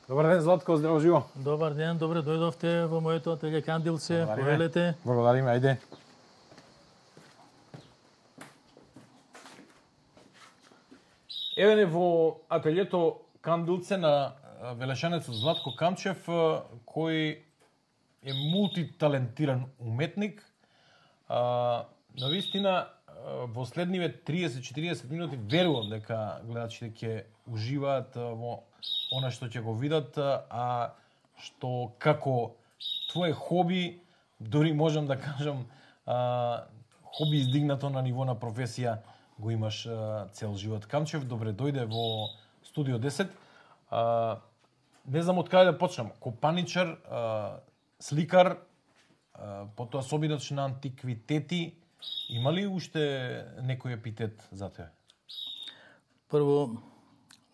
Добар ден, Златко, здраво живо. Добар ден, добре дојдовте во моето ателје Кандилце, повелете. Благодариме, ајде. Еве не во ателјето Кандилце на велешанецот Златко Камчев, кој е мултиталентиран уметник. Навистина, во следниве 30-40 минути верувам дека гледачите ќе уживаат во она што ќе го видат, а што како твое хоби, дори можам да кажам, хоби издигнато на ниво на професија, го имаш цел живот. Камчев, добре дојде во Студио 10. Не знам од каде да почнам. Копаничар, сликар, потоа собирач на антиквитети. Има ли уште некој епитет за тебе? Прво,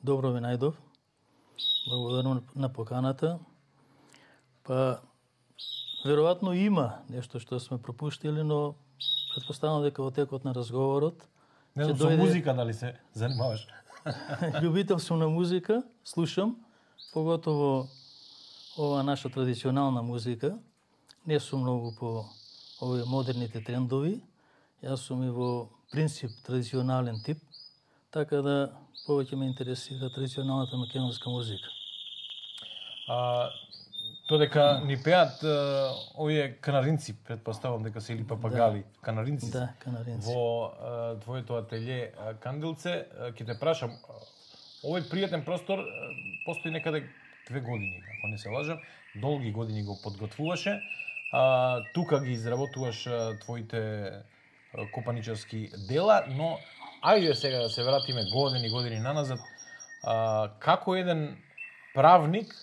добро ви најдов. Благодарам на поканата. Па, веројатно има нешто што сме пропуштили, но претпоставам дека во текот на разговорот не знам, со музика дали се занимаваш? Љубител сум на музика, слушам, поготово ова наша традиционална музика. Не сум многу по овие модерните трендови. Јас сум и во принцип традиционален тип, така да повеќе ме интересира традиционалната македонска музика. Додека ни пеат овие канаринци, претпоставам дека се или папагали, да. канаринци. Да, канаринци. Во твоето ателје Кандилце, ќе те прашам, овој пријатен простор постои некаде 2 години, ако не се лажам, долги години го подготвуваше. Тука ги изработуваш твоите копаничарски дела, но ајде сега да се вратиме години наназад. Како еден правник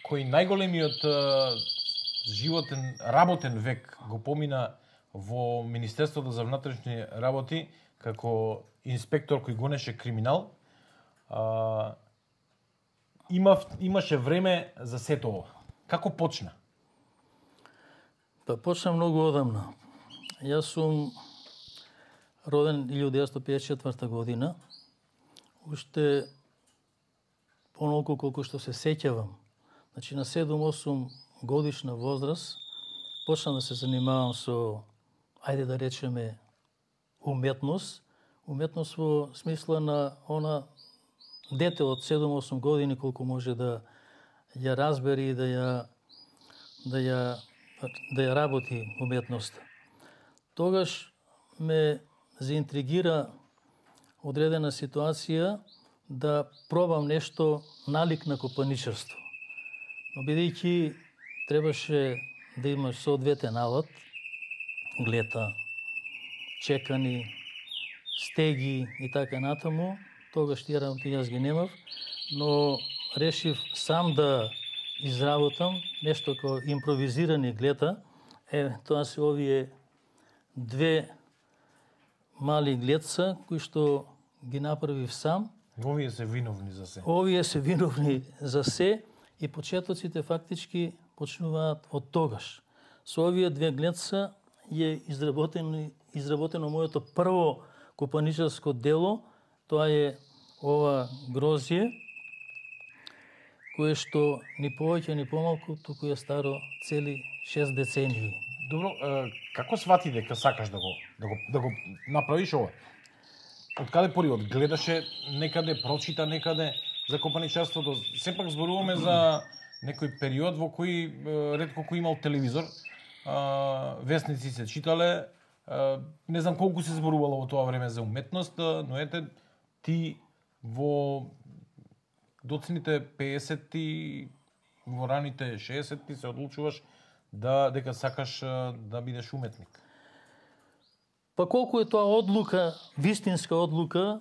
кој најголемиот животен, работен век го помина во Министерството за внатрешни работи како инспектор кој гонеше криминал, имаше време за сето ова. Како почна? Па почна многу одамна. Јас сум роден 1954 година. Уште онолку колку што се сеќавам. Значи на 7-8 годишна возраст почна да се занимавам со, ајде да речеме, уметност. Уметност во смисла на она дете од 7-8 години колку може да ја разбери и да ја работи уметноста. Тогаш ме заинтригира одредена ситуација да пробам нешто налик на копаничарство. Но бидејќи требаше да имаш соодветен алат, глета, чекани, стеги и така натаму, тогаш тие работи јас ги немав, но решив сам да изработам нешто како импровизирани глета. Тоа се овие 2 мали глетца кои што ги направив сам. Овие се виновни за се. Овие се виновни за се и почетоците фактички почнуваат од тогаш. Со овие 2 глетца е изработено моето прво копаничарско дело. Тоа е ова грозје, кое што ни повеќе ни помалку туку е старо цели 6 децении. Добро, како свати дека сакаш да го направиш ова? Од каде поривод? Гледаше некаде, прочита некаде за копаничарството? Сепак зборуваме за некој период во кој ретко кој имал телевизор, весници се читале, не знам колку се зборувало во тоа време за уметност, но ете ти во доцните 50-ти, во раните 60-ти се одлучуваш дека сакаш да бидеш уметник. Па колку е тоа одлука, вистинска одлука,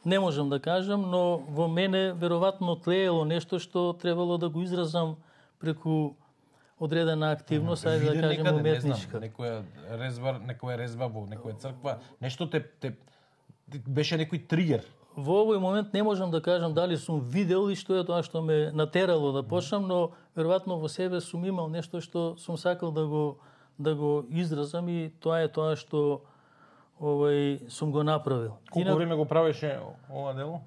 не можам да кажам, но во мене веројатно тлеело нешто што требало да го изразам преку одредена активност, ајде да кажем уметничка. Некоја резба во некоја црква, нешто те беше некој тригер. Во овој момент не можам да кажам дали сум видел и што е тоа што ме натерало да почнам, но веројатно во себе сум имал нешто што сум сакал да го изразам и тоа е тоа што сум го направил. Колку време го правеше ова дело?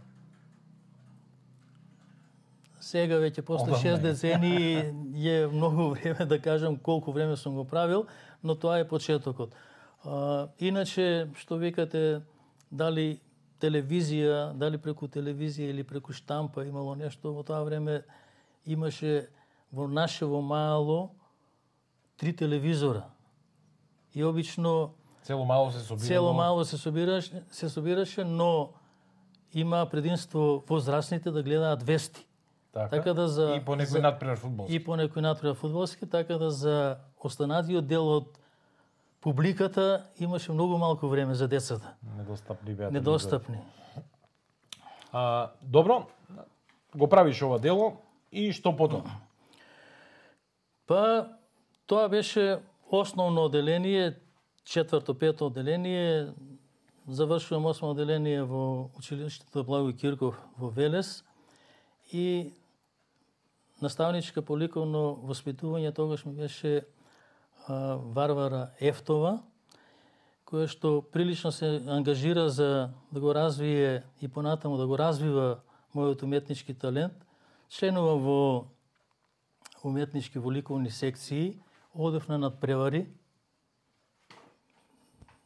Сега веќе после 6 децении е многу време да кажам колку време сум го правил, но тоа е почетокот. Иначе, што викате, дали телевизија, дали преку телевизија или преку штампа имало нешто, во тоа време имаше во нашево мало 3 телевизора. И обично Цело мало се собираше, но има предимство возрастните да гледаат вести. Така да и по некој надпревар фудбалски. И по некој надпревар фудбалски, така да за останатиот дел од публиката имаше многу малку време за децата. Недостапни. Добро, го правиш ова дело и што потоа? Па, тоа беше основно оделение, 4-5 оделение. Завршувам 8 оделение во училиштето Благој Кирков во Велес и наставничка по ликовно воспитување тогаш ми беше Варвара Ефтова, која што прилично се ангажира за да го развие и понатаму да го развива мојот уметнички талент. Членува во уметнички во ликовни секции, одев на надпревари,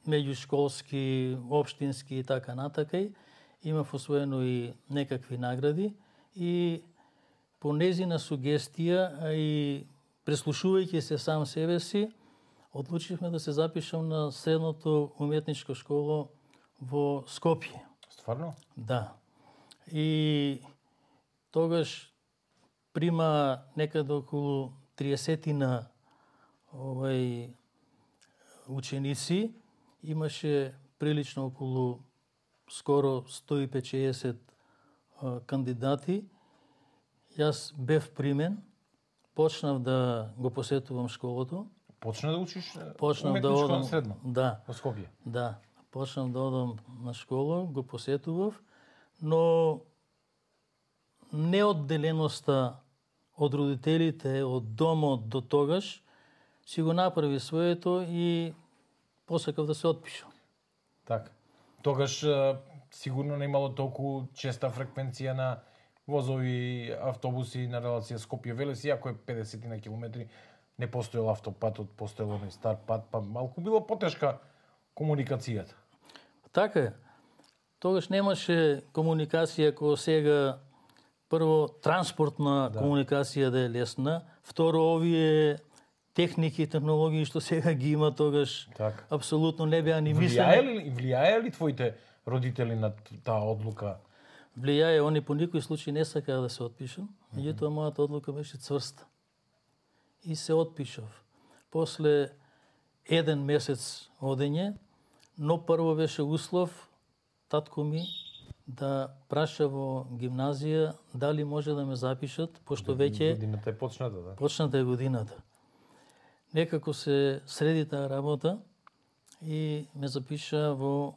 меѓушколски, општински и така натака. Имав освоено и некакви награди и по незина сугестија, а и преслушувајќи се сам себе си, одлучивме да се запишам на средното уметничко школо во Скопје. Стварно? Да. И тогаш прима некаде околу 30 ученици, имаше прилично околу скоро 150 кандидати. Јас бев примен, почнав да го посетувам школото. Почна да учиш уметничко на средно? Да. Во Скопје? Да. Почнав да одам на школа, го посетував, но неодделеноста од родителите, од домот до тогаш, си го направи своето и посакав да се отпишам. Така. Тогаш сигурно не имало толку честа фреквенција на возови, автобуси на релација Скопје-Велес, иако е 50 на километри, не постоел автопатот, постоел оној стар пат, па малку било потешка комуникацијата. Така е. Тогаш немаше комуникација кој сега, прво транспортна комуникација да е лесна, второ овие техники и технологии што сега ги има тогаш, апсолутно не беа ни мислени. Влијае ли твоите родители на таа одлука? Влијае, они по никој случај не сакаа да се отпишам, меѓутоа мојата одлука беше цврста. И се отпишав. После 1 месец одење, но прво беше услов татко ми да праша во гимназија дали може да ме запишат, пошто веќе годината е почната, да. Почната е годината. Некако се среди таа работа и ме запиша во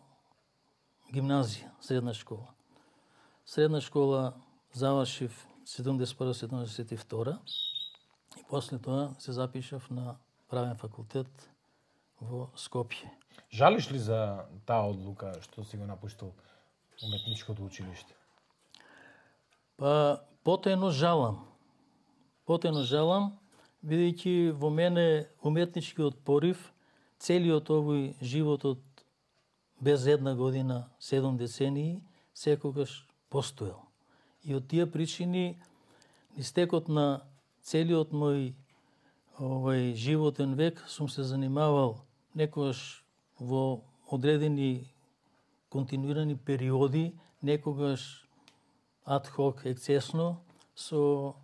гимназија, средна школа. Средна школа завршив 71-72 и после тоа се запишав на правен факултет во Скопје. Жалиш ли за таа одлука што си го напуштил уметничкото училиште? Па, потајно жалам. Бидејќи во мене уметничкиот порив, целиот овој животот без 1 година, 7 децении, секогаш постоел. И од тие причини, истекот на целиот мој животен век, сум се занимавал некогаш во одредени континуирани периоди, некогаш адхок, ексцесно, со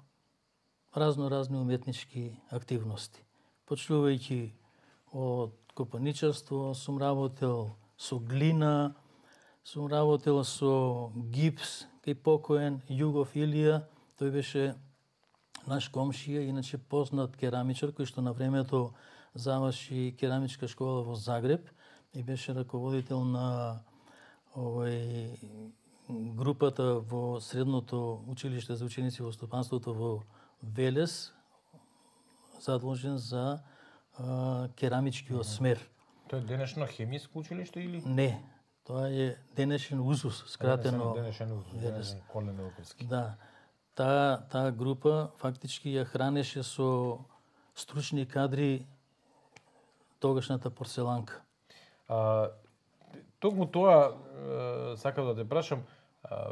разни уметнички активности. Почнувајќи од копаничарство, сум работел со глина, сум работел со гипс, кај покоен Југов Илија, тој беше наш комшија, иначе познат керамичар, кој што на времето заврши керамичка школа во Загреб и беше раководител на групата во средното училиште за ученици во стопанството во Велес, задолжен за керамичкиот смер. Тоа е денешно хемиско училиште или? Не, тоа е денешен УЗУС, скратено. Денешен УЗУС, Колен Велковски. Да. таа група фактички ја хранеше со стручни кадри тогашната порцеланка. Токму тоа сакам да те прашам,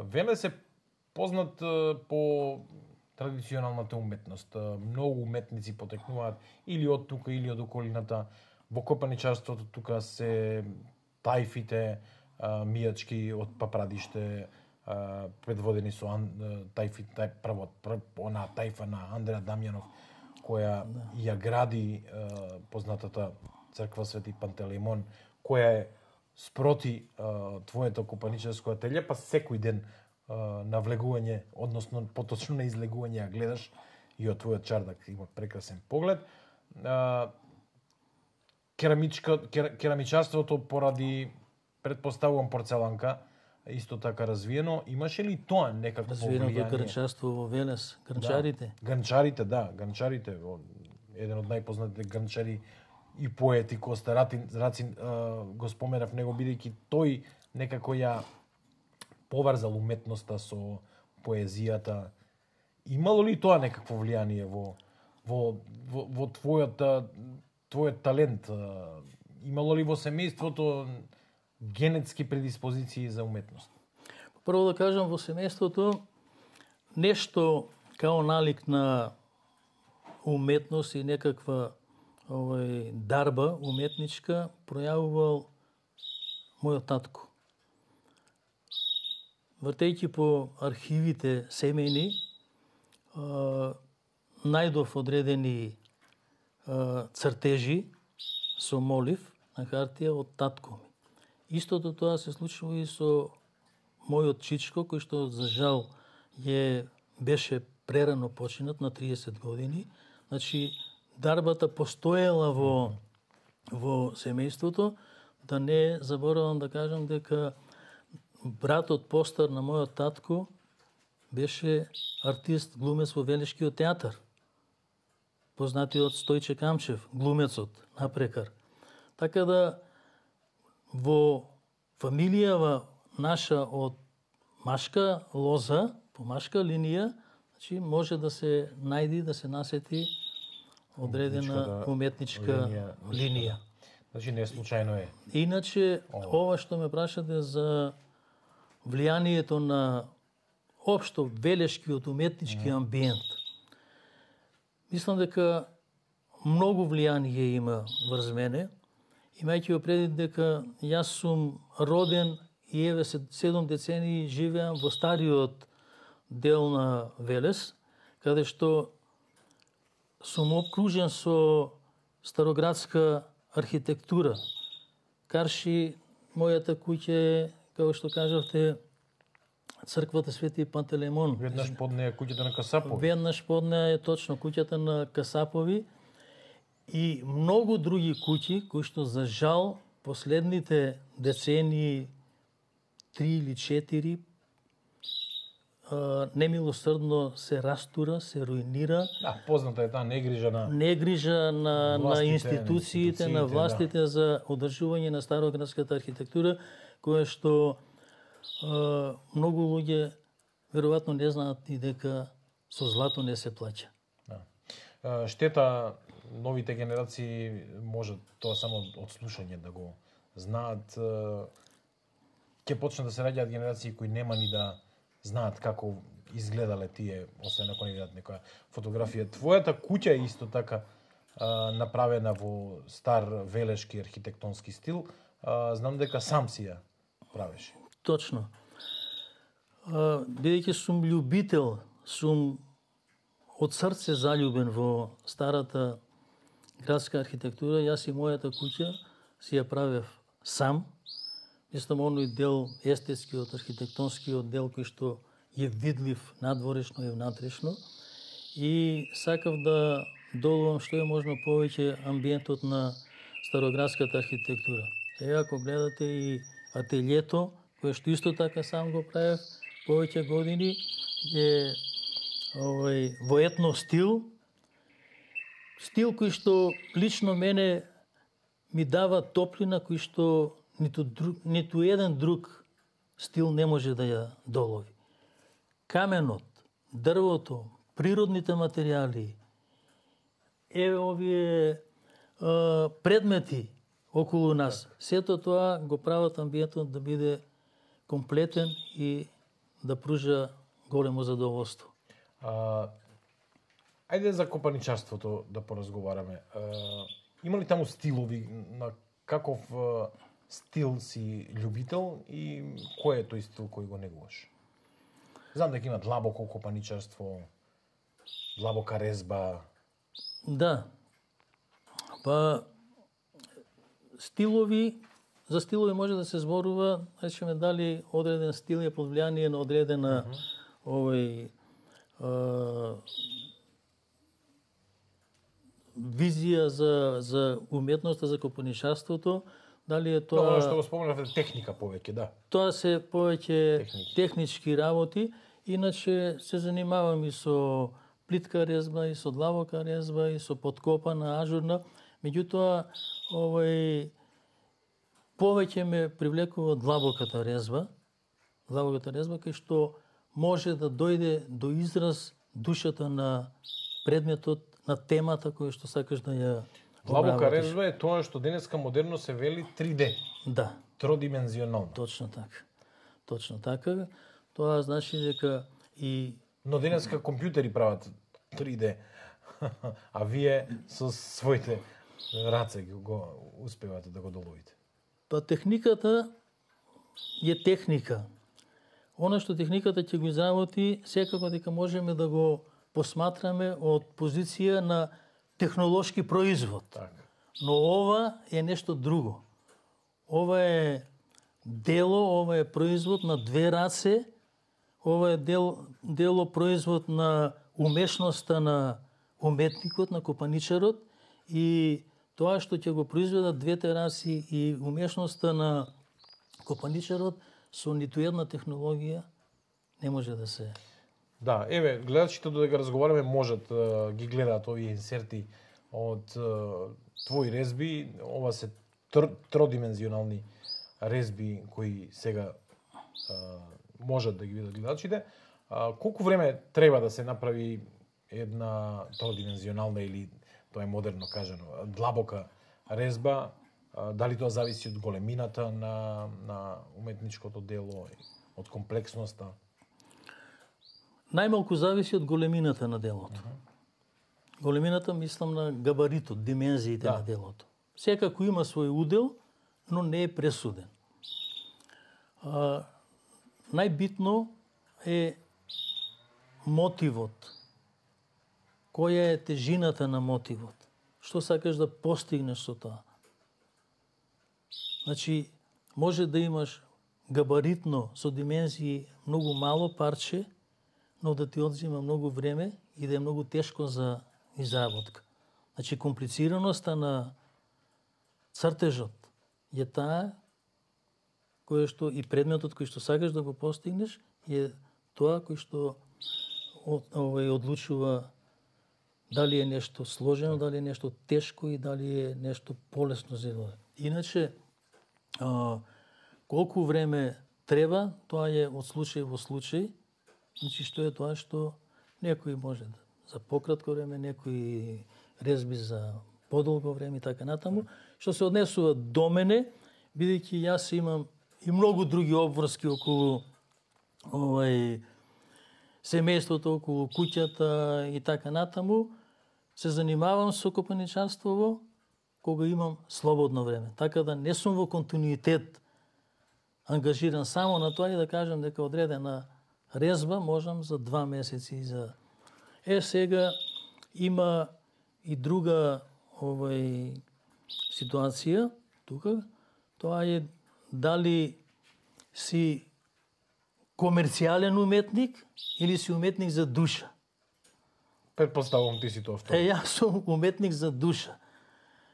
Велес е познат по традиционалната уметност. Многу уметници потекнуваат или од тука или од околината. Во копаничарството тука се тајфите, мијачки од Папрадиште, предводени со она тајфа на Андреа Дамјанов, која ја гради познатата црква Свети Пантелеймон, која е спроти твоето копаничарско ателје, па секој ден на влегување, односно поточно на излегување ја гледаш и од твојот чардак има прекрасен поглед. Керамичарството поради, предпоставувам, порцеланка, исто така развиено. Имаше ли тоа некакво влијание? Развиеното грнчарство во Велес, грнчарите? Да, грнчарите. Еден од најпознатите грнчари и поети Коста Рацин го споменав него, бидејќи тој некако ја поврзал уметноста со поезијата. Имало ли тоа некакво влијание во твојот талент? Имало ли во семејството генетски предиспозиции за уметност? Прво да кажам, во семејството нешто као налик на уметност и некаква дарба уметничка пројавувал мојот татко. Вртејќи по архивите семејни, најдов одредени цртежи со молив на хартија од татко ми. Истото тоа се случува и со мојот чичко, кој што за жал беше прерано починат на 30 години. Значи, дарбата постоела во семејството. Да не заборавам да кажам дека братот постар на мојот татко беше артист, глумец во Велешкиот театар. Познатиот Стојче Камчев, глумецот, напрекар. Така да, во фамилијава наша од машка лоза, по машка линија, значи може да се најди, да се насети одредена уметничка линија. Значи не случајно е. Иначе, ова што ме прашате за влијанието на општо велешкиот уметнички амбиент, мислам дека многу влијание има врз мене, имајќи го предвид дека јас сум роден и еве 7 децении живеам во стариот дел на Велес, каде што сум обкружен со староградска архитектура. Карши, мојата куќа е, како што кажавте, црквата Свети Пантелеймон. Веднаш под неја куќата на Касапови. Веднаш под неја е точно куќата на Касапови и многу други куќи кои што за жал последните децении 3 или 4 немилосрдно се растура, се руинира. Да, позната е таа негрижа на институциите, на властите за одржување на староградската архитектура, која што многу луѓе веројатно не знаат и дека со злато не се плаќа. Да. Штета новите генерации може тоа само од слушање да го знаат. Ќе почнат да се раѓаат генерации кои нема ни да знаат како изгледале тие, освен ако не видат некоја фотографија. Твојата куќа е исто така направена во стар велешки архитектонски стил. Знам дека сам си ја правеше. Точно. Бидејќи сум љубител, сум од срце заљубен во старата градска архитектура, јас и мојата куќа си ја правев сам. Мислам, оној дел, естетскиот, архитектонскиот дел кој што е видлив надворешно и внатрешно. И сакав да долувам што е можно повеќе амбиентот на староградската архитектура. Сега, ако гледате и ателјето, кое што исто така сам го правев повеќе години, е во етно стил. Стил кој што лично мене ми дава топлина кој што ниту еден друг стил не може да ја долови. Каменот, дрвото, природните материјали, овие предмети околу нас, сето тоа го прават амбиентот да биде комплетен и да пружа големо задоволство. Ајде за копаничарството да поразговараме. Има ли таму стилови, на каков стил си љубител и кој е тој стил кој го негуваш? Знам дека има длабоко копаничарство, длабока резба. Да. Па стилови, за стилови може да се зборува, речеме дали одреден стил е под влијание на одредена визија за уметноста, за копаничарството, дали е тоа... Тоа што го спомнавте, техника повеќе, да. Тоа се повеќе технички работи, иначе се занимавам и со плитка резба, и со длабока резба, и со подкопана, ажурна. Меѓутоа, повеќе ме привлекува длабоката резба, кај што може да дојде до израз душата на предметот, на темата која што сакаш да ја длабока резба е тоа што денеска модерно се вели 3D. Да. Тродимензионално. Точно така. Точно така. Тоа значи дека и... Но денеска компјутери прават 3D, а вие со своите раце го успевате да го доловите. Па техниката е техника. Она што техниката ќе го изработи, секако дека можеме да го посматраме од позиција на технолошки производ. Така. Но ова е нешто друго. Ова е дело, ова е производ на две раце, ова е дело производ на умешноста на уметникот, на копаничарот, и тоа што ќе го произведат двете раси и умешноста на копаничарот со ниту една технологија не може да се... Да, еве, гледачите додека разговараме можат ги гледаат овие инсерти од твои резби. Ова се тродимензионални резби кои сега можат да ги видат гледачите. Колку време треба да се направи една тродимензионална или тоа е модерно кажано длабока резба? Дали тоа зависи од големината на уметничкото дело, од комплексноста? Најмалку зависи од големината на делото. Големината, мислам на габаритот, димензиите на делото. Секако има свој удел, но не е пресуден. Најбитно е мотивот. Која е тежината на мотивот? Што сакаш да постигнеш со тоа? Значи, може да имаш габаритно со димензии многу мало парче, но да ти одзима многу време и да е многу тешко за изработка. Значи, комплицираноста на цртежот е таа кој што и предметот кој што сакаш да го постигнеш е тоа кој што одлучува дали е нешто сложено, дали е нешто тешко и дали е нешто полесно за изработка. Иначе, колку време треба, тоа е од случај во случај. Значи, што е тоа што некои може да за пократко време, некои резби за подолго време и така натаму. Што се однесува до мене, бидејќи јас имам и многу други обврски околу семејството, околу куќата и така натаму, се занимавам со копаничарство кога имам слободно време. Така да не сум во континуитет ангажиран само на тоа и да кажам дека одредена резба можам за 2 месеци за... Сега има и друга ситуација тука. Тоа е дали си комерцијален уметник или си уметник за душа. Предпоставувам ти си тоа второ. Јас сум уметник за душа.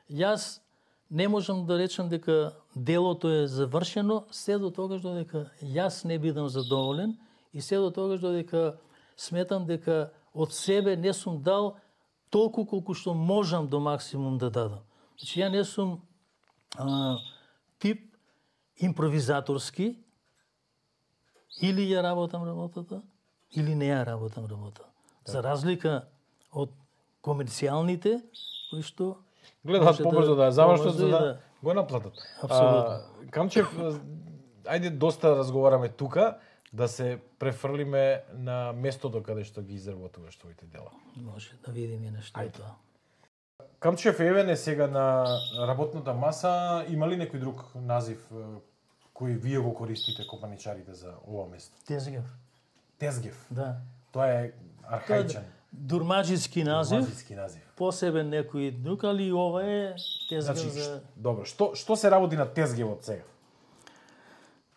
Јас не можам да речам дека делото е завршено се до тогаш додека јас не бидам задоволен и се до тогаш додека сметам дека од себе не сум дал толку колку што можам до максимум да дадам. Значи, ја не сум тип импровизаторски, или ја работам работата, или не ја работам работа. За разлика од комерцијалните кои што гледаат побрзо да ја завршат за да да го наплатат. Апсолутно. Камчев, ајде доста разговараме тука, да се префрлиме на местото каде што ги изработуваш твоите дела. може да видиме нешто е тоа. Камчев Евен е сега на работната маса. Има ли некој друг назив кој вие го користите копаничарите за ова место? Тезгев. Тезгев. Да. Тоа е архаичен. Дурмаджиски назив, Мазиски назив. посебен некој друг, али ова е тезгев Значи, за... добро, што се работи на Тезгевот сега?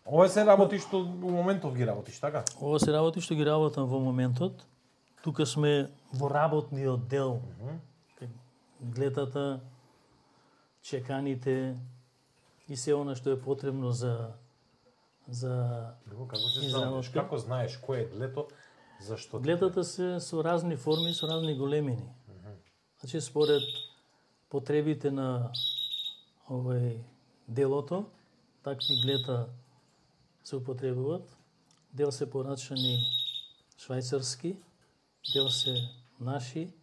Ова се работи што у моментов ги работиш, така? Ова се работи што ги работам во моментот. Тука сме во работниот дел. Глетата, чеканите и се она што е потребно за Како се изработка. како знаеш кој е длето, зашто? Глетата се со разни форми, со разни големини. Значи според потребите на делото, такви глета се употребуваат. Дел се порачани швајцарски, дел се наши.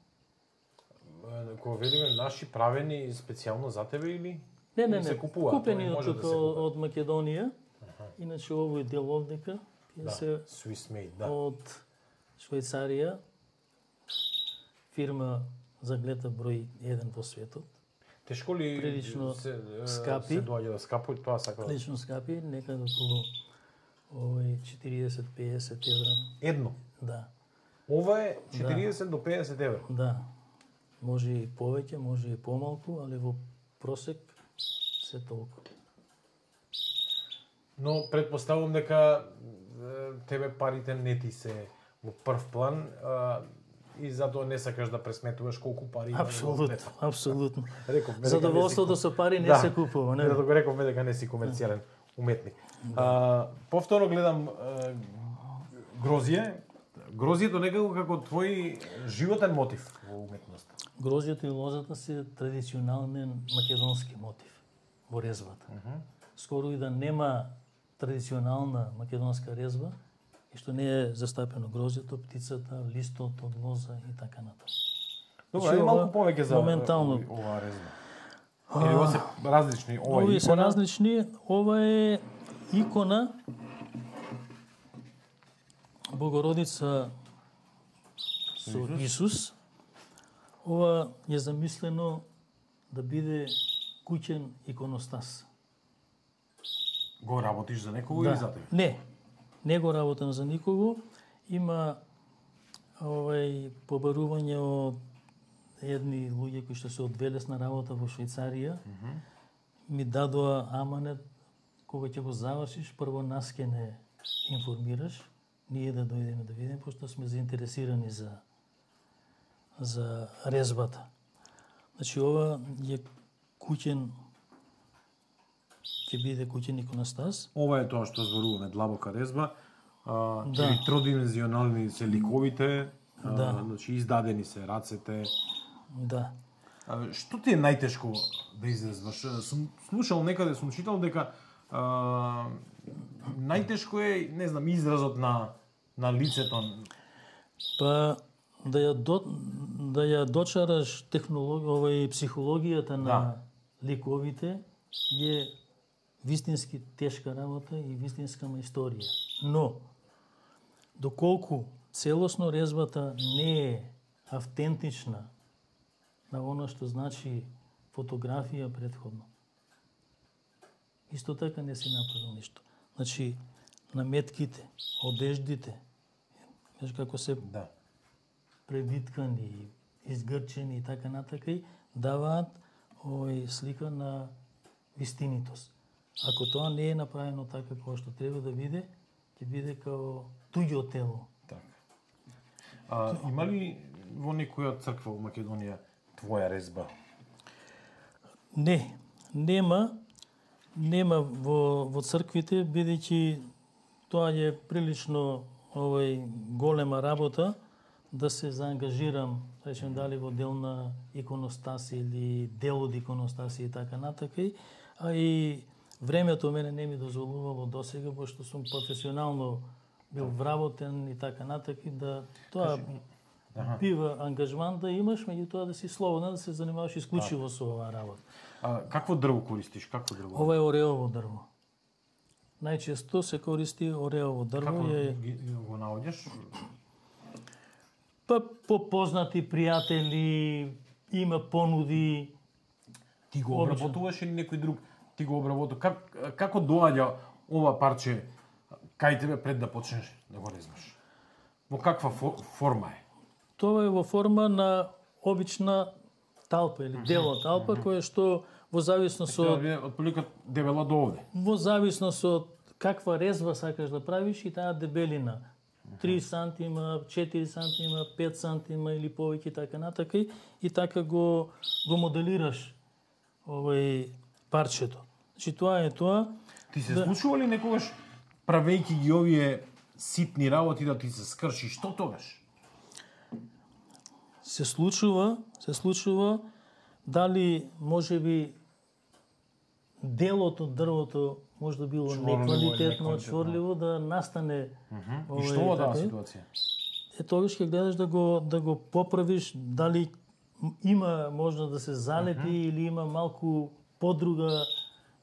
Кога велиме наши правени специјално за тебе или? Не. се купуваат, Купени може од да тука се купат. од Македонија. Иначе овој дел овдека ќе се Swiss made, да. од Швајцарија, фирма за глета број 1 во светот. Тешко ли Прилично се скапи. се доаѓа да скапи, тоа сакам. Лично скапи, некаде околу 40-50 евра. Едно. Да, Ова е 40 до 50 евра. да. Може и повеќе, може и помалку, али во просек се толку. Но предпоставувам дека тебе парите не ти се во прв план и затоа не сакаш да пресметуваш колку пари има. Апсолутно, апсолутно. Рековме дека Задоволството со пари не се купува, не? Да го рековме дека не си комерцијален уметник. Повторно гледам грозје. Грозјето некако како твој животен мотив во уметноста. Грозјето и лозата се традиционален македонски мотив во резбата. Скоро и да нема традиционална македонска резба, и што не е застапено грозјето, птицата, листот од лоза и така натаму. Добро, Значи, ајде малку ова повеќе за моментално. оваа резба. Или ова се различни, ова е Овие се икона. различни. Ова е икона Богородица со Исус. Ова е замислено да биде куќен иконостас. Го работиш за некого или за тебе? Не го работам за никого. Има побарување од едни луѓе кои што се од велесна работа во Швајцарија. Ми дадоа аманет, кога ќе го завршиш, прво нас ќе не информираш, ние да дојдеме да видиме, пошто сме заинтересирани за резбата. Значи, ова е куќен, ќе биде куќен иконостас. Ова е тоа што зборуваме, длабока резба. Да. Тридимензионални се ликовите, Да. значи издадени се рацете. Да. Што ти е најтешко да изрезваш? Сум слушал некаде, сум читал дека најтешко е, не знам, изразот на лицето. Па да ја дочараш психологијата на ликовите е вистински тешка работа и вистинска историја. Но доколку целосно резбата не е автентична на оно што значи фотографија претходно, исто така не си направил ништо. Значи, наметките, одеждите, знаеш како се превиткани, изгрчени и така натака, и даваат слика на вистинитост. Ако тоа не е направено така како што треба да биде, ќе биде како туѓо тело. Така. Има ли во некоја црква во Македонија твоја резба? Не, нема во црквите, бидејќи тоа е прилично голема работа да се заангажирам, речем дали во дел на иконостаси или дел од иконостаси и така натака, а и времето мене не ми дозволувало досега, пошто сум професионално бил вработен и така натаки, да тоа бива ангажман да имаш, меѓутоа да си слободен да се занимаваш исклучиво со оваа работа. Какво дрво користиш? Какво дрво? Ова е ореово дрво. Најчесто се користи ореово дрво. Како го наоѓаш? Па по познати пријатели, има понуди. Ти го обработуваш или некој друг ти го обработува? Како доаѓа ова парче кај тебе пред да почнеш да го резбаш? Во каква форма е? Тоа е во форма на обична талпа или дела талпа, која што во зависност од отприлика дебела до овде. Во зависност од каква резва сакаш да правиш и таа дебелина. 3 сантима, 4 сантима, 5 сантима или повеќе така натака и така го моделираш овој парчето. Значи тоа е тоа. Ти се случува ли некогаш правејќи ги овие ситни работи да ти се скрши? Што тогаш? Се случува дали можеби делот од дрвото може да било неквалитетно, чворливо, да настане И што во таа ситуација? Тогаш ќе гледаш да го поправиш, дали има можно да се залепи или има малку подруга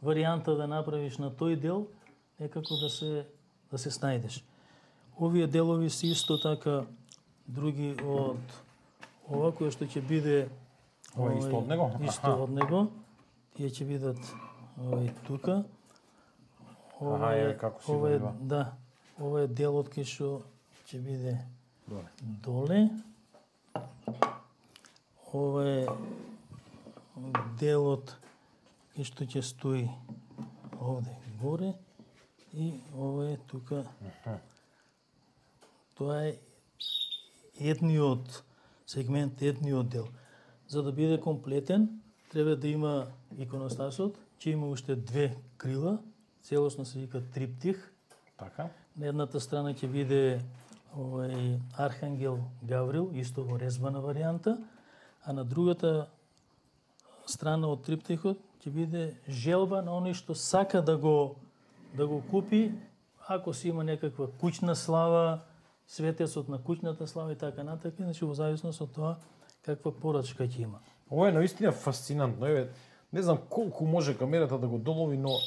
варијанта да направиш на тој дел, некако да се снајдеш. Овие делови се исто така други од ова кој што ќе биде исто од него? Исто од него. Тие ќе бидат тука. Како си го да, ова е делот кај што ќе биде доле. Ова е делот кај што ќе стои овде горе и ова е тука. Тоа е едниот сегмент, едниот дел. За да биде комплетен, треба да има иконостасот, ќе има уште 2 крила, целосно се вика триптих. Така. На едната страна ќе биде овој Архангел Гаврил, исто во резбана варијанта, а на другата страна од триптихот ќе биде желба на оној што сака да го купи, ако си има некаква куќна слава, светецот на куќната слава и така натака, значи во зависност од тоа каква порачка ќе има. Ова е наистина фасцинантно. Не знам колку може камерата да го долови, но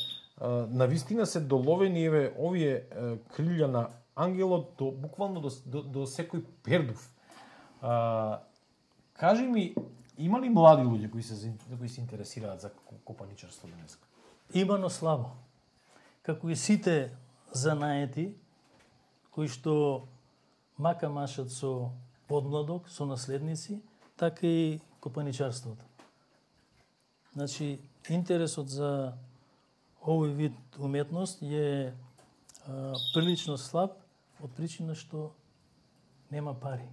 навистина се доловени овие крилја на ангелот буквално до секој пердув. Кажи ми, има ли млади луѓе кои се интересираат за копаничарство денес? Има, но слабо. Како и сите занаети кои што мака машат со подмладок, со наследници, така и копаничарството. Значи, интересот за овој вид уметност е прилично слаб од причина што нема пари.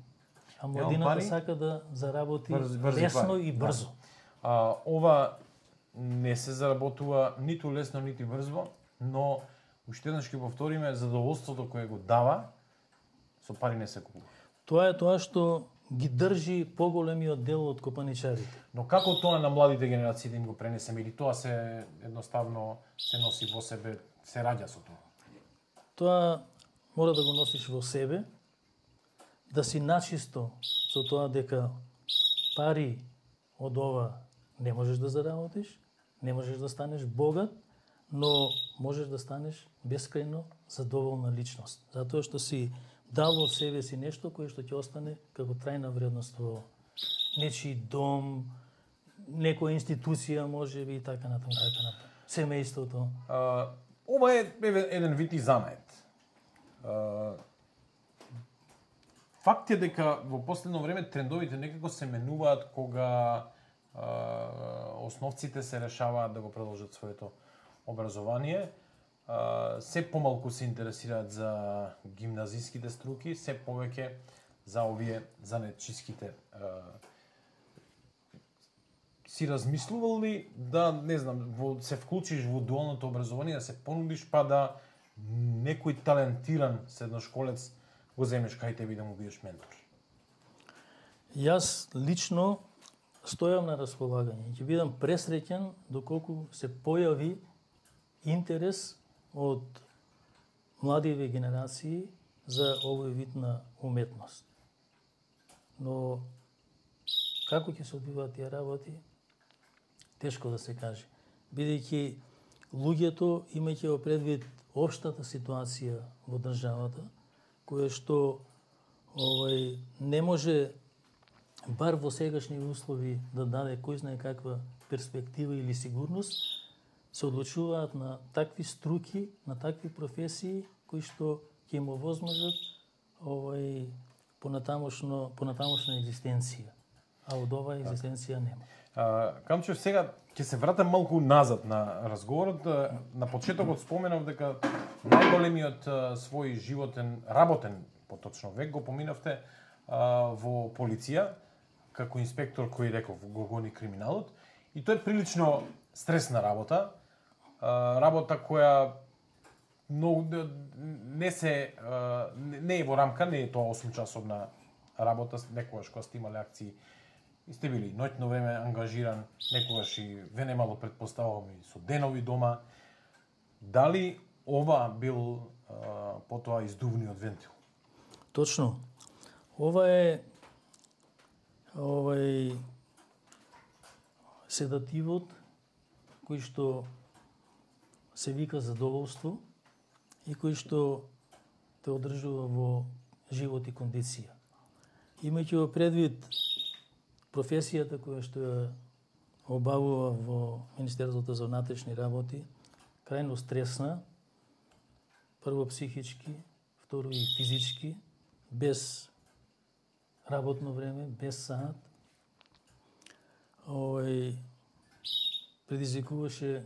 А младината сака да заработи лесно и брзо. Ова не се заработува ниту лесно, ниту брзо, но уште еднаш ќе повториме, задоволството кое го дава, со пари не се купува. Тоа е тоа што ги држи поголемиот дел од копаничарите. Но како тоа на младите генерации да им го пренесеме, или тоа се едноставно се носи во себе, се раѓа со тоа? Тоа мора да го носиш во себе, да си начисто со тоа дека пари од ова не можеш да заработиш, не можеш да станеш богат, но можеш да станеш бескрајно задоволна личност. Затоа што си дал од себе си нешто кое што ќе остане како трајна вредност во нечи дом, некоја институција можеби и така натаму, семејството. Ова е еден вид и занает. Факт е дека во последно време трендовите некако се менуваат кога основците се решаваат да го продолжат своето образование. Се помалку се интересираат за гимназиските струки, се повеќе за овие занетчиските. Си размислувал ли да, не знам, се вклучиш во дуалното образование, да се понудиш, па да некој талентиран средношколец го земеш кај тебе и да му бидеш ментор? Јас лично стојам на располагање. Ќе бидам пресреќен доколку се појави интерес од младиве генерации за овој вид на уметност. Но како ќе се одвиваат тие работи, тешко да се каже. Бидејќи луѓето, имајќи го предвид општата ситуација во државата, која што не може бар во сегашни услови да даде кој знае каква перспектива или сигурност, се одлучуваат на такви струки, на такви професии кои што ќе им овозможат понатамошна екзистенција. А од оваа екзистенција нема. Камчев, сега ќе се вратам малку назад на разговорот. На почетокот споменав дека најголемиот свој животен, работен поточно век го поминавте во полиција, како инспектор кој реков го гони криминалот. И тоа е прилично стресна работа. Работа која не е во рамка, не е тоа 8-часовна работа, некогаш кога сте имале акции и сте били ноќно време ангажиран, некогаш и ве немало предпоставувам и со денови дома. Дали ова бил потоа издувниот вентил? Точно. Ова е седативот кој што се вика задоволство и кој што те одржува во живот и кондиција. Имајќи во предвид професијата која што ја обавува во Министерството за внатрешни работи, крајно стресна, прво психички, второ и физички, без работно време, без саат, предизвикуваше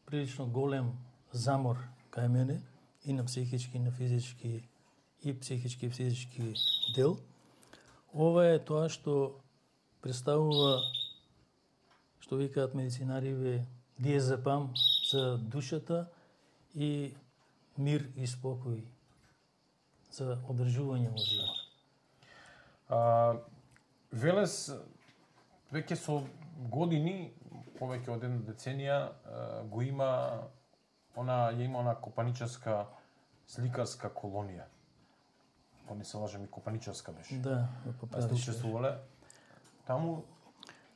прилично голем замор кај мене и на психички, и на физички, и психички, и физички дел. Ова е тоа што представува, што викаат медицинариве, диазепам за душата и мир и спокој за одржување во живот. Велес веќе со години, повеќе од една деценија, го има она копаничарска сликарска колонија. Ако не се лажам, и копаничарска беше. Да, сте учествувале таму?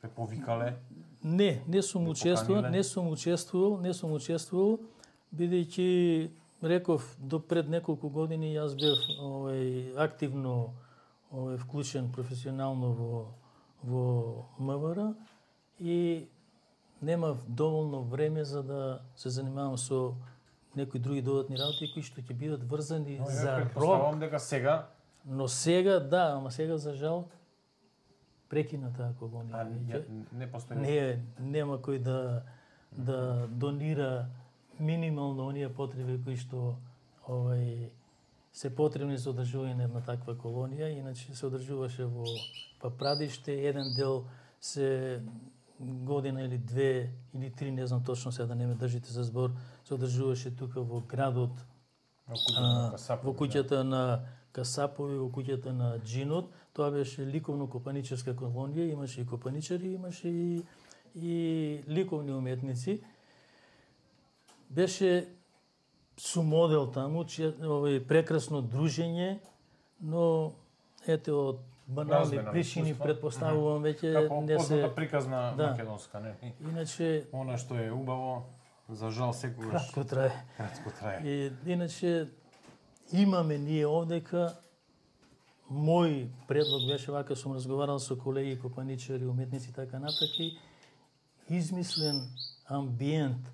Ве повикале? Не сум учествувал, бидејќи реков до пред неколку години јас бев активно вклучен професионално во МВР и немав доволно време за да се занимавам со некои други додатни работи кои што ќе бидат врзани за рок. Предпоставувам дека сега. Но сега да, ама сега за жал прекина таа колонија. Не постои. Нема кој да донира минимално оние потреби кои што се потребни за одржување на една таква колонија, иначе се одржуваше во Папрадиште, еден дел се година или две или три, не знам точно сега да не ме држите за збор, се одржуваше тука во градот, во куќата на Касапови, во куќата на Джинот. Тоа беше ликовно-копаничарска колонија, имаше и копаничари, имаше и ликовни уметници. Беше сумодел таму, прекрасно дружење, но ете од банални причини предпоставувам веќе не се како приказна македонска, не. Иначе она што е убаво, за жал секогаш кратко трае. И иначе имаме ние овдека, мој предлог беше вака, сум разговарал со колеги копаничари, уметници така натака, измислен амбиент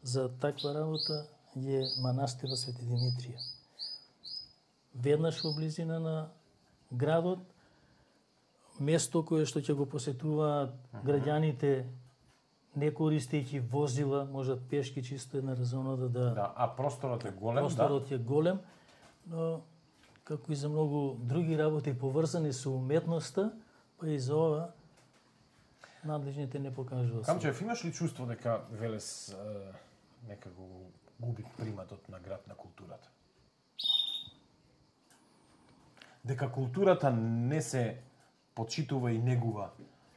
за таква работа е манастирот Свети Димитрија. Веднаш во близина на градот, место кое што ќе го посетуваат граѓаните, не користејќи возила, можат пешки чисто една резоната да... А просторот е голем, Просторот е голем, но како и за многу други работи поврзани со уметноста, па и за ова надлежните не покажуваат. Камчев, имаш ли чувство дека Велес некако губи приматот на град на културата? Дека културата не се почитува и негува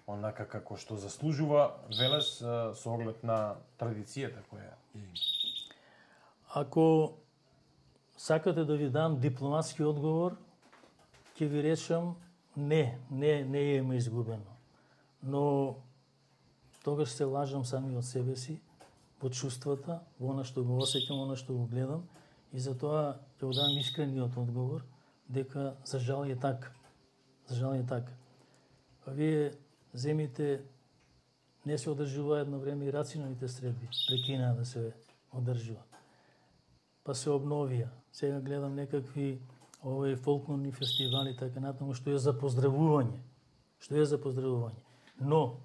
онака како што заслужува Велес со оглед на традицијата која има? Ако сакате да ви дам дипломатски одговор, ќе ви речам не е изгубено. Но тогаш се лажам сами од себе си, во чувствата, во она што го осеќам, она што го гледам, и затоа ќе го дам искрениот одговор дека за жал е така. За жал е така. А вие земите не се одржува едно време и рационалните средби, прекинаа да се одржува. Па се обновија. Сега гледам некакви фолклорни фестивали, така натаму, што е за поздравување. Но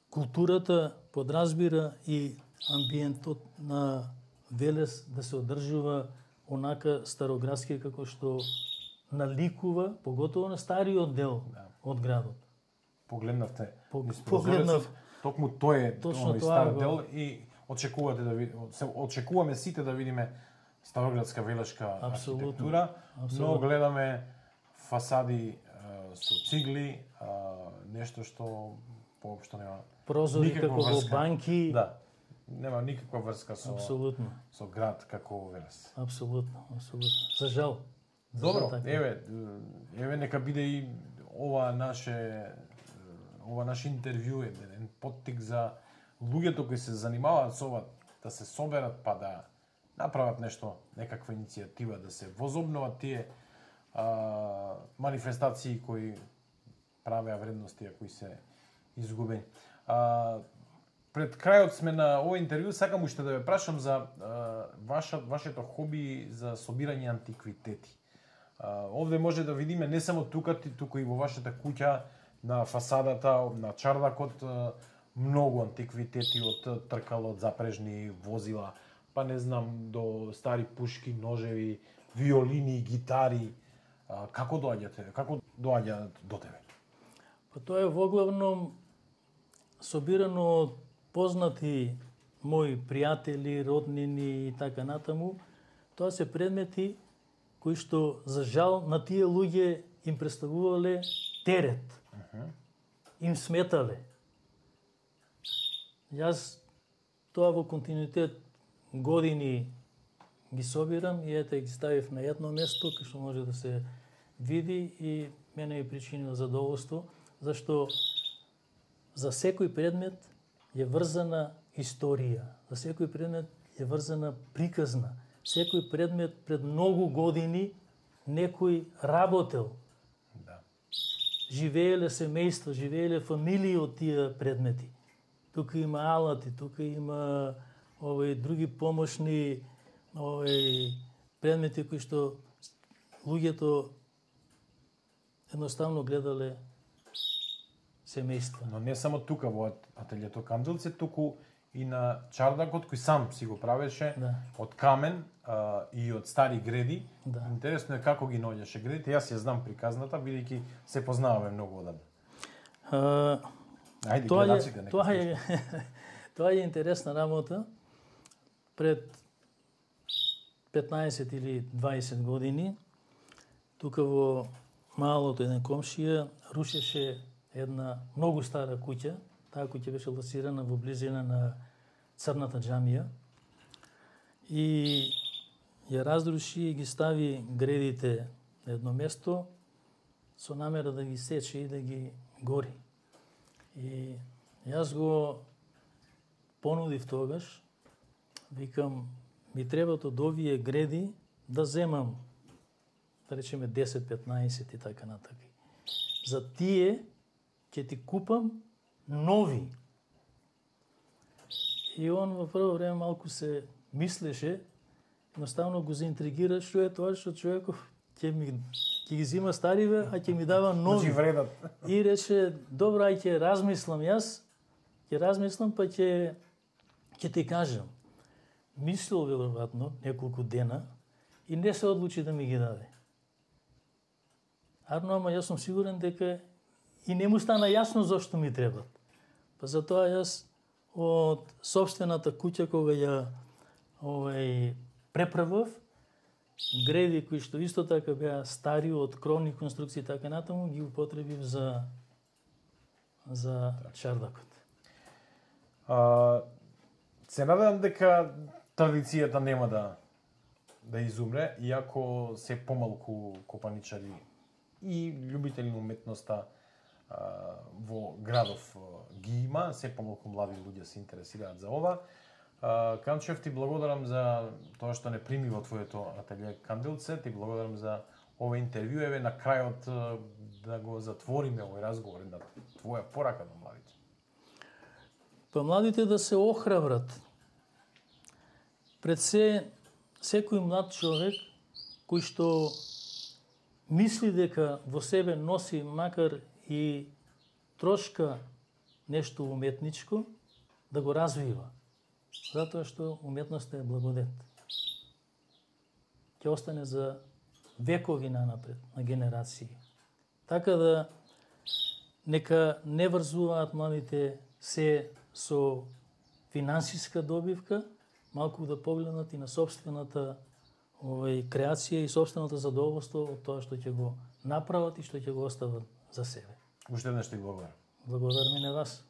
културата подразбира и амбиентот на Велес да се одржува онака староградски како што наликува, поготово на стариот дел од градот. Погледнавте. Погледнав. Токму тој е Точно стар дел и очекуваме сите да видиме староградска велешка архитектура, но гледаме фасади со цигли, нешто што воопшто нема прозори како во банки. Да. Нема никаква врска со со град како Велес. Апсолутно. За жал. Добро, еве нека биде и ова наше интервју еден поттик за луѓето кои се занимаваат со ова, да се соберат па да направат нешто, некаква иницијатива, да се возобноват тие манифестации кои правеа вредности кои се изгубени. Пред крајот сме на овој интервју, сакам уште да ве прашам за вашето хоби за собирање антиквитети. Овде може да видиме не само туку и во вашата куќа, на фасадата, на чардакот, многу антиквитети од тркало, од запрежни возила, па не знам, до стари пушки, ножеви, виолини, гитари. Како доаѓаат до тебе? Па тоа е воглавном собирано од познати мои пријатели, роднини и така натаму. Тоа се предмети кои што за жал на тие луѓе им представувале терет. Им сметале. Јас тоа во континуитет години ги собирам и ете ги ставив на едно место кај што може да се види и мене ми причинува задоволство, зашто за секој предмет е врзана историја, за секој предмет е врзана приказна. Секој предмет пред многу години некој работел. Да. Живееле семејства, живееле фамилии од тие предмети. Тука има алати, тука има други помошни предмети кои што луѓето едноставно гледале семејства. Но не само тука во ателјето Канделце, туку и на чардакот кој сам си го правеше од камен и од стари греди. Да. Интересно е како ги наоѓаше гредите. Јас ја знам приказната, бидејќи се познаваме многу одамна. Ајде, гледачите нека. Тоа е интересна работа. Пред 15 или 20 години тука во малото еден комшија рушеше една многу стара куќа. Таа куќа беше лоцирана во близина на Црната џамија и ја разруши и ги стави гредите на едно место со намера да ги сече и да ги гори. И јас го понудив тогаш, викам, ми требат од овие греди да земам, да речеме 10-15 и така натака. За тие ќе ти купам нови. И он во прво време малку се мислеше, едноставно го заинтригира што е тоа што човеков ќе ги зима стариве, а ќе ми дава нови. И рече, добро, ај ќе размислам јас, па ќе ти кажам. Мислил веројатно неколку дена и не се одлучи да ми ги даде. Ама јас сум сигурен дека и не му стана јасно зошто ми требат. Па затоа јас од собствената куќа кога ја преправав, греди кои што исто така беа стари од кровни конструкции така натаму, ги употребив за чардакот. Се надевам дека традицијата нема да изумре, иако се помалку копаничари и љубители на уметноста во градов ги има, се помалку млади луѓе се интересираат за ова. Канчев, ти благодарам за тоа што не прими во твоето ателје Канделце, ти благодарам за ова интервју, еве на крајот да го затвориме овој разговор, на твоја порака на младите. Па младите да се охрабрат. Пред секој млад човек кој што мисли дека во себе носи макар и трошка нешто уметничко, да го развива. Затоа што уметноста е благодет. Ќе остане за векови нанапред, на генерации. Така да нека не врзуваат младите се со финансиска добивка, малку да погледнат и на собствената креација и собственото задоволство од тоа што ќе го направат и што ќе го остават за себе. Уште еднаш ти благодарам. Благодарам и на вас.